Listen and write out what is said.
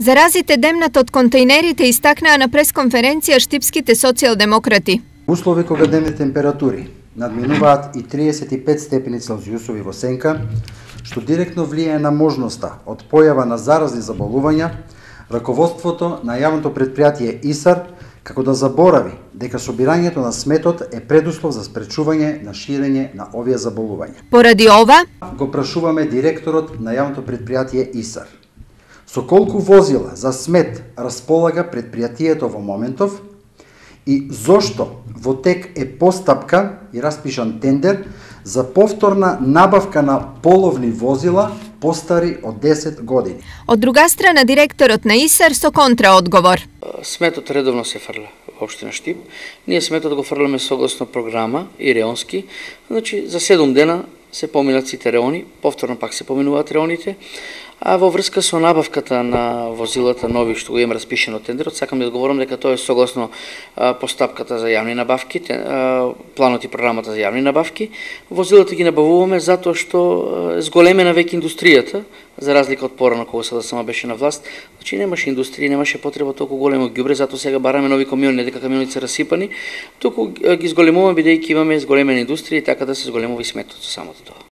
Заразите демнат од контејнерите истакнаа на пресконференција штипските социјалдемократи. Услови кога дневни температури надминуваат и 35 степени Целзиусови во сенка, што директно влијае на можноста од појава на заразни заболувања, раководството на јавното предпријатие ИСАР како да заборави дека собирањето на сметот е предуслов за спречување на ширење на овие заболувања. Поради ова, го прашуваме директорот на јавното предпријатие ИСАР. Со колку возила за смет располага предпријатието во моментов и зошто во тек е постапка и распишан тендер за повторна набавка на половни возила постари од 10 години. Од друга страна, директорот на ИСАР со контраодговор. Сметот редовно се фрля во општина Штип. Ние сметот го фрламе согласно програма и реонски. Значи, за 7 дена се поминат сите реони, повторно пак се поминуваат реоните, а во врска со набавката на возилата нови што го имам распишено тендерот, сакам да одговорам дека тоа е согласно постапката за јавни набавки, планот и програмата за јавни набавки. Возилата ги набавуваме затоа што зголемена веќе индустријата, за разлика од порано кога СДСМ беше на власт, значи немаше индустрија, немаше потреба толку големо ѓубре, затоа сега бараме нови камиони, не дека камионите се расипани, туку ги зголемуваме бидејќи имаме зголемена индустрија и така да се зголемува и сметот со самото тоа.